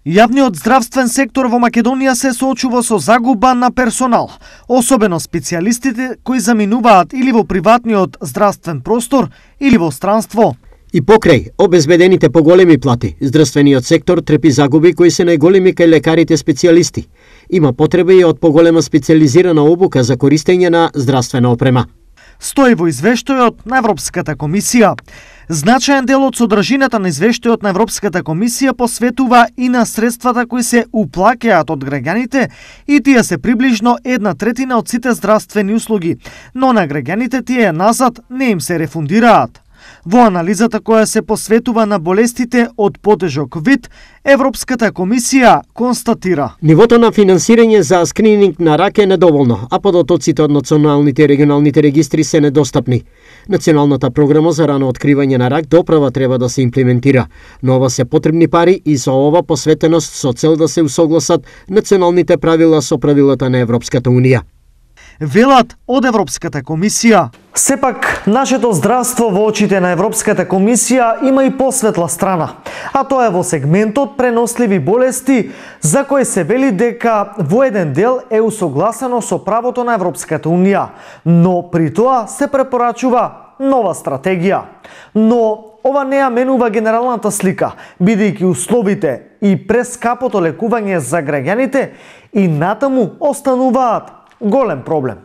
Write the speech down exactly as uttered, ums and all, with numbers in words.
Јавниот здравствен сектор во Македонија се соочува со загуба на персонал, особено специјалистите кои заминуваат или во приватниот здравствен простор или во странство. И покрај обезбедените поголеми плати, здравствениот сектор трпи загуби кои се најголеми кај лекарите специјалисти. Има потреба и од поголема специјализирана обука за користење на здравствена опрема. Стои во извештајот на Европската комисија. Значаен дел од содржината на извештајот на Европската комисија посветува и на средствата кои се уплаќаат од граѓаните, и тие се приближно една третина од сите здравствени услуги, но на граѓаните тие назад не им се рефундираат. Во анализата која се посветува на болестите од потежок вид, Европската комисија констатира: нивото на финансирање за скрининг на рак е недоволно, а податоците од националните и регионалните регистри се недостапни. Националната програма за рано откривање на рак доправа треба да се имплементира, но ова се потребни пари и за ова посветеност со цел да се усогласат националните правила со правилата на Европската унија. Велат од Европската комисија. Сепак, нашето здравство во очите на Европската комисија има и посветла страна, а тоа е во сегментот преносливи болести, за кој се вели дека во еден дел е усогласено со правото на Европската унија, но при тоа се препорачува нова стратегија. Но ова не ја менува генералната слика, бидејќи условите и прескапото лекување за граѓаните и натаму остануваат голем проблем.